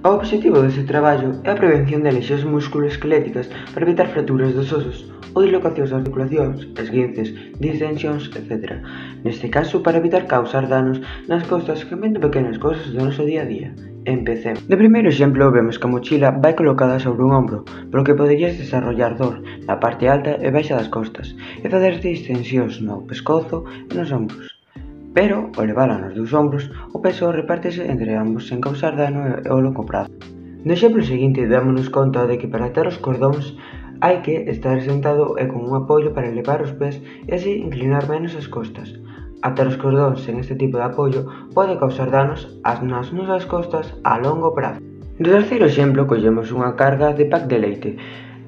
O obxectivo deste traballo é a prevención de lesións musculoesqueléticas para evitar fracturas dos osos ou dislocacións das articulacións, esguinces, distensións, etc. Neste caso, para evitar causar danos nas costas cambiando pequenas cousas do noso día a día. Empecemos. De primeiro exemplo, vemos que a mochila vai colocada sobre un ombro, polo que poderías desarrollar dor na parte alta e baixa das costas e facer distensións no pescozo e nos ombros. Pero, ao levala nos dous ombros, o peso repártese entre ambos sen causar dano ao longo prazo. No exemplo seguinte, dámonos conta de que para atar os cordóns hai que estar sentado e con un apoio para elevar os pés e así inclinar menos as costas. Atar os cordóns sen este tipo de apoio pode causar danos nas nosas costas a longo prazo. No terceiro exemplo, collemos unha carga de pack de leite.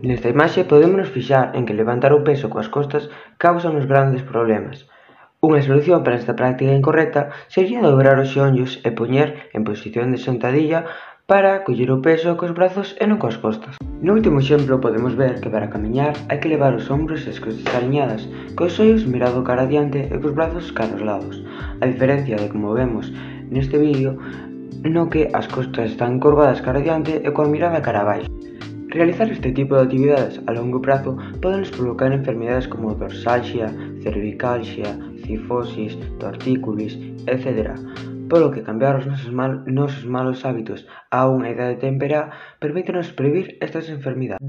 Nesta imaxe podemos fixar en que levantar o peso coas costas causa uns grandes problemas. Unha solución para esta práctica incorrecta sería dobrar os xeonllos e poñer en posición de sentadilla para coller o peso cos brazos e non coas costas. No último exemplo podemos ver que para camiñar hai que levar os ombros e as costas aliñadas, cos ollos mirado cara adiante e cos brazos cara aos lados. A diferencia de como vemos neste vídeo, no que as costas están encorvadas cara adiante e coa mirada cara abaixo. Realizar este tipo de actividades a longo prazo poden provocar enfermedades como dorsalgia, cervicalgia, cifosis, tortícolis, etc. Polo que cambiar os nosos malos hábitos a unha idade temperá permítenos prevenir estas enfermidades.